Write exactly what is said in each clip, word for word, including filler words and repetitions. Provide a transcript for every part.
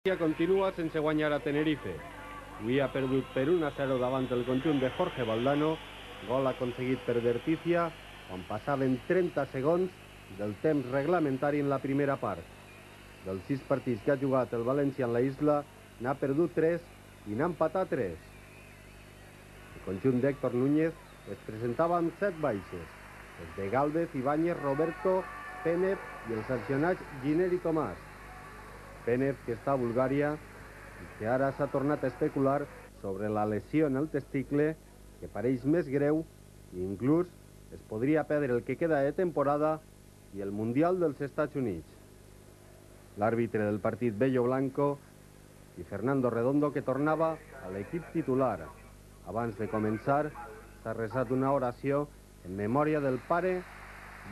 València continua sense guanyar a Tenerife. Avui ha perdut per un a zero davant el conjunt de Jorge Valdano, gol aconseguit per Verticia quan passaven trenta segons del temps reglamentari en la primera part. Dels sis partits que ha jugat el València en la isla, n'ha perdut tres i n'ha empatat tres. El conjunt d'Héctor Núñez es presentava amb set baixes, els de Gálvez, Ibáñez, Roberto, Pénez i el sancionat Giner i Tomàs. Pénez, que està a Bulgària i que ara s'ha tornat a especular sobre la lesió en el testicle, que pareix més greu i inclús es podria perdre el que queda de temporada i el Mundial dels Estats Units. L'àrbitre del partit, Bello Blanco, i Fernando Redondo, que tornava a l'equip titular. Abans de començar, s'ha resat una oració en memòria del pare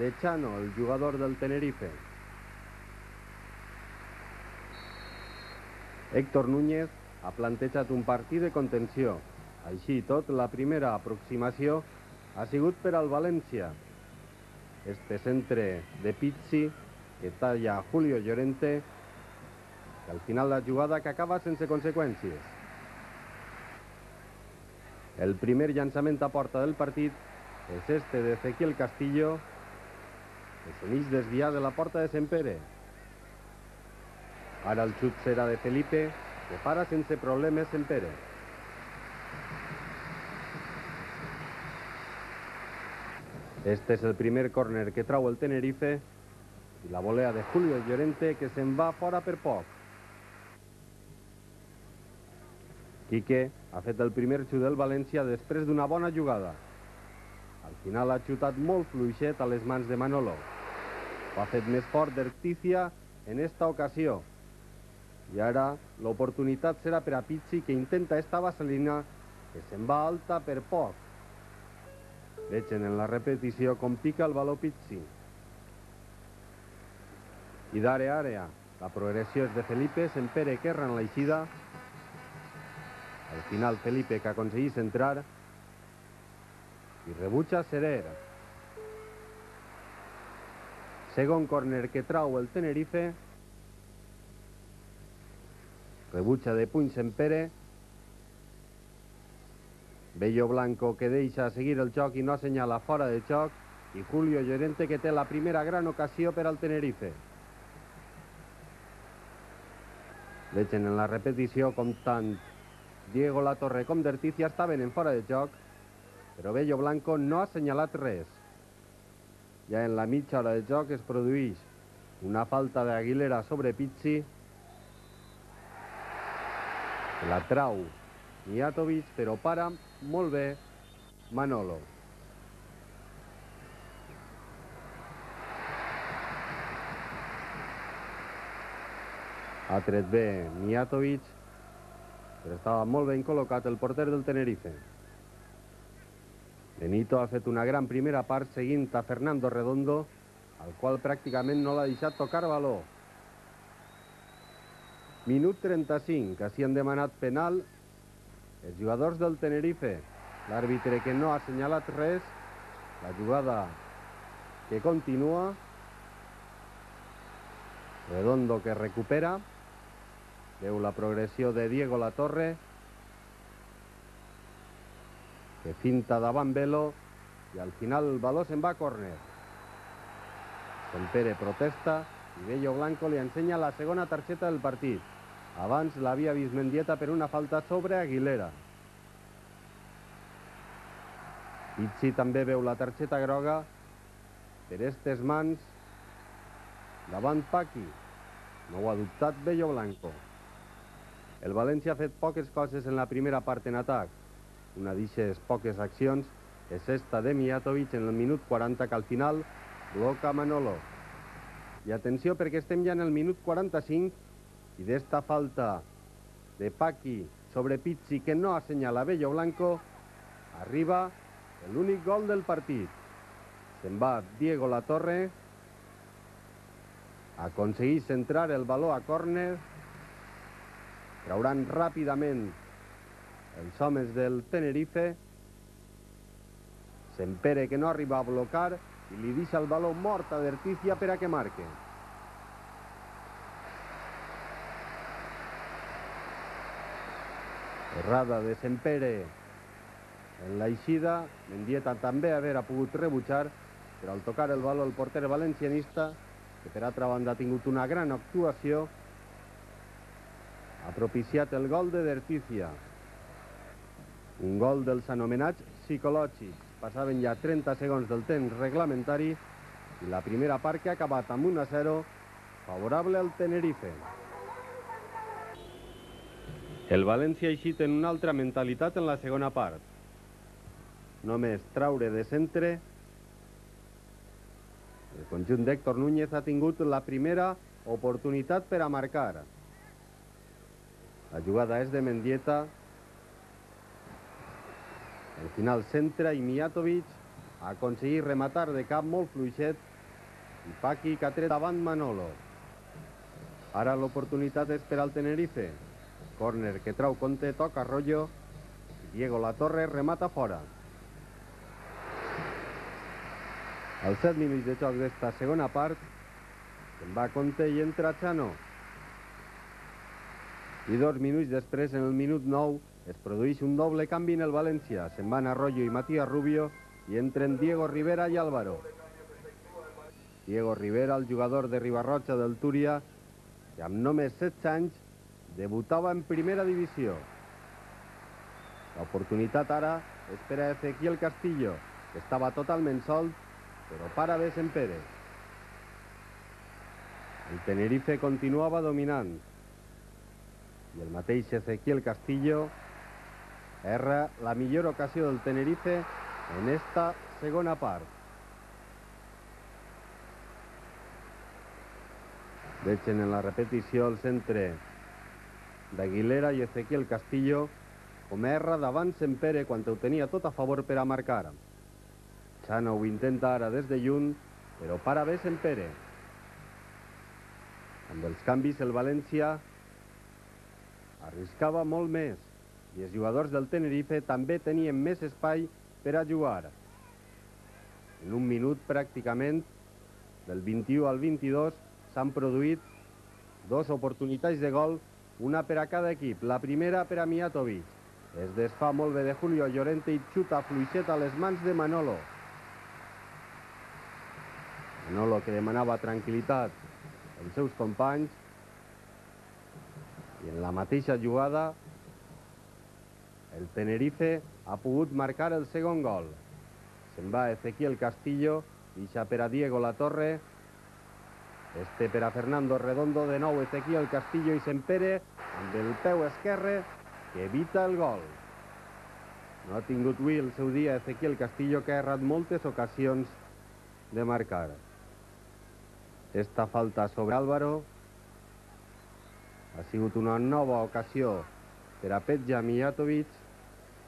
de Chano, el jugador del Tenerife. Héctor Núñez ha plantejat un partit de contenció. Així i tot, la primera aproximació ha sigut per al València. Este centre de Pizzi, que talla Julio Llorente, que al final la jugada que acaba sense conseqüències. El primer llançament a porta del partit és este de Ezequiel Castillo, que s'uneix desviar de la porta de Sempere. Ara el xut serà de Felipe, que para sense problemes Sempere. Este és el primer córner que trau el Tenerife i la volea de Julio Llorente, que se'n va fora per poc. Quique ha fet el primer xut del València després d'una bona jugada. Al final ha xutat molt fluixet a les mans de Manolo. Ho ha fet més fort Verticia en esta ocasió. I ara l'oportunitat serà per a Pizzi, que intenta esta vaselina, que se'n va alta per poc. Vegen en la repetició com pica el baló Pizzi. I d'àrea a àrea, la progressió és de Felipe, Sempere que erra en l'eixida. Al final Felipe, que aconsegueix entrar i rebutja Serer. Segon córner que trau el Tenerife. Rebutja de puny Sempere. Bello Blanco, que deixa seguir el joc i no assenyala fora de joc. I Julio Llorente, que té la primera gran ocasió per al Tenerife. Vegen en la repetició com tant Diego Latorre com Verticia estaven en fora de joc, però Bello Blanco no ha assenyalat res. Ja en la mitja hora de joc es produeix una falta d'Aguilera sobre Pizzi, que la trau Mijatovic, però para molt bé Manolo. Ha tret bé Mijatovic, però estava molt ben col·locat el porter del Tenerife. Benito ha fet una gran primera part seguint a Fernando Redondo, al qual pràcticament no l'ha deixat tocar baló. Minut trenta-cinc, que s'hi han demanat penal els jugadors del Tenerife. L'àrbitre, que no ha assenyalat res. La jugada que continua. Redondo, que recupera. Veu la progressió de Diego Latorre, que finta davant Velo, i al final el baló se'n va a córner. Sempere protesta i Bello Blanco li ensenya la segona targeta del partit. Abans l'havia vist Mendieta per una falta sobre Aguilera. Pizzi també veu la targeta groga per estes mans davant Paqui. No ho ha dubtat Bello Blanco. El València ha fet poques coses en la primera part en atac. Una d'aquestes poques accions és esta de Mijatovic en el minut quaranta, que al final bloca Manolo. I atenció, perquè estem ja en el minut quaranta-cinc i d'esta falta de Paqui sobre Pizzi, que no assenyala Bello Blanco, arriba l'únic gol del partit. Se'n va Diego Latorre, aconsegueix centrar el baló a córner. Trauran ràpidament els homes del Tenerife. Sempere, que no arriba a blocar, i li deixa el baló mort a Verticia per a que marque. Errada de Sempere en l'eixida. Mendieta també haver pogut rebutjar, però al tocar el baló el porter valencianista, que per altra banda ha tingut una gran actuació, ha propiciat el gol de Dertícia. Un gol dels anomenats psicològics. Passaven ja trenta segons del temps reglamentari i la primera part que ha acabat amb un a zero favorable al Tenerife. El València ha eixit en una altra mentalitat en la segona part. Només traure de centre. El conjunt d'Héctor Núñez ha tingut la primera oportunitat per a marcar. La jugada és de Mendieta. Al final centra i Mijatovic ha aconseguit rematar de cap molt fluixet i Paqui que ha tret davant Manolo. Ara l'oportunitat és per al Tenerife. Córner que trau Conte, toca Arroyo. Diego Latorre remata fora. Als set minuts de joc d'esta segona part se'n va Conte i entra Chano. I dos minuts després, en el minut nou, es produeix un doble canvi en el València. Se'n van Arroyo i Matías Rubio i entren Diego Rivera i Álvaro. Diego Rivera, el jugador de Ribarroja del Túria, que amb només setze anys debutava en primera divisió. L'oportunitat ara és per a Ezequiel Castillo, que estava totalment sol, però para bé Sempere. El Tenerife continuava dominant i el mateix Ezequiel Castillo erra la millor ocasió del Tenerife en esta segona part. Veig en la repetició el centre d'Aguilera i Ezequiel Castillo com erra davant Sempere quan ho tenia tot a favor per a marcar. Chano ho intenta ara des de lluny, però para bé Sempere. Amb els canvis el València arriscava molt més i els jugadors del Tenerife també tenien més espai per a jugar. En un minut pràcticament, del vint-i-u al vint-i-dos, s'han produït dos oportunitats de gol, una per a cada equip. La primera per a Mijatovic. Es desfà molt bé de Julio Llorente i xuta fluixet a les mans de Manolo. Manolo que demanava tranquil·litat als seus companys. I en la mateixa jugada el Tenerife ha pogut marcar el segon gol. Se'n va Ezequiel Castillo, deixa per a Diego Latorre. Este per a Fernando Redondo, de nou Ezequiel Castillo i Sempere amb el peu esquerre que evita el gol. No ha tingut avui el seu dia Ezequiel Castillo, que ha errat moltes ocasions de marcar. Esta falta sobre Álvaro ha sigut una nova ocasió per a Petja Mijatovic,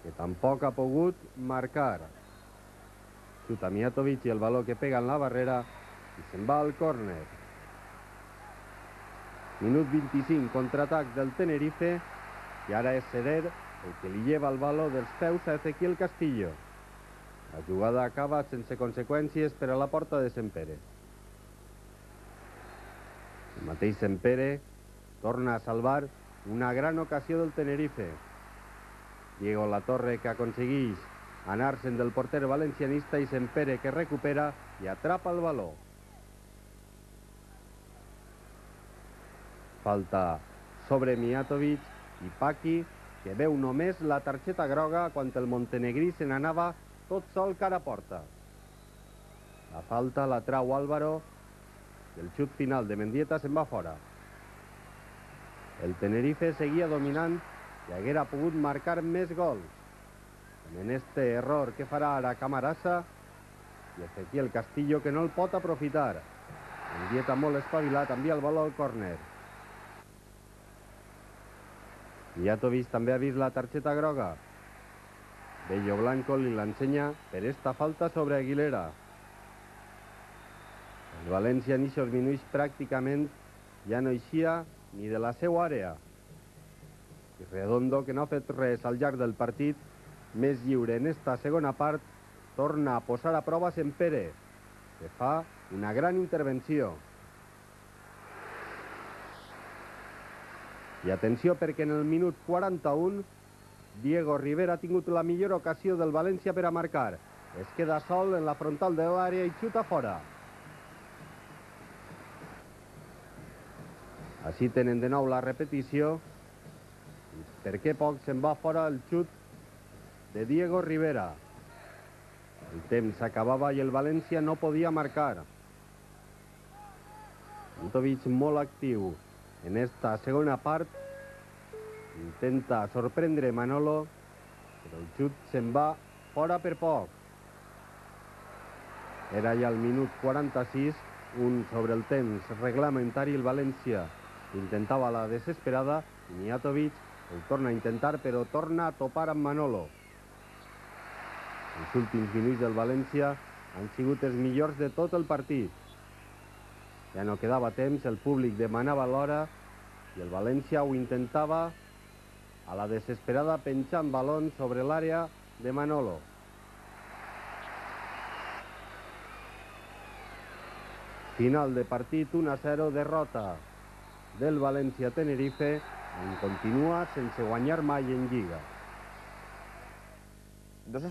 que tampoc ha pogut marcar. Xuta Mijatovic i el baló que pega en la barrera i se'n va al córner. Minut vint-i-cinc, contraatac del Tenerife, i ara és Seder el que li lleva el baló dels peus a Ezequiel Castillo. La jugada acaba sense conseqüències per a la porta de Sempere. El mateix Sempere torna a salvar una gran ocasió del Tenerife. Diego Latorre que aconsegueix anar-se'n del porter valencianista i Sempere que recupera i atrapa el baló. Falta sobre Mijatovic i Paqui, que veu només la targeta groga quan el montenegrí se n'anava tot sol cara a porta. La falta la trau Álvaro i el xut final de Mendieta se'n va fora. El Tenerife seguia dominant i haguera pogut marcar més gols. En este error que farà ara Camarasa i Ezequiel Castillo, que no el pot aprofitar. Mendieta molt espavilat, envia el baló al córner. Mijatovic també ha vist la targeta groga. Bello Blanco li l'ensenya per esta falta sobre Aguilera. El València en ixos minuts pràcticament ja no eixia ni de la seva àrea. I Redondo, que no ha fet res al llarg del partit, més lliure en esta segona part, torna a posar a prova Sempere, que fa una gran intervenció. I atenció, perquè en el minut quaranta-un Diego Rivera ha tingut la millor ocasió del València per a marcar. Es queda sol en la frontal de l'àrea i xuta fora. Així tenen de nou la repetició. Per què poc se'n va fora el xut de Diego Rivera. El temps s'acabava i el València no podia marcar. Antovic molt actiu en esta segona part. Intenta sorprendre Manolo, però el xut se'n va fora per poc. Era ja el minut quaranta-sis, un sobre el temps reglamentari. El València intentava la desesperada i Mijatovic el torna a intentar, però torna a topar amb Manolo. Els últims minuts del València han sigut els millors de tot el partit. Ja no quedava temps, el públic demanava l'hora i el València ho intentava a la desesperada, penjant balons sobre l'àrea de Manolo. Final de partit, u a zero, derrota del València-Tenerife, en continua sense guanyar mai en Lliga. Dos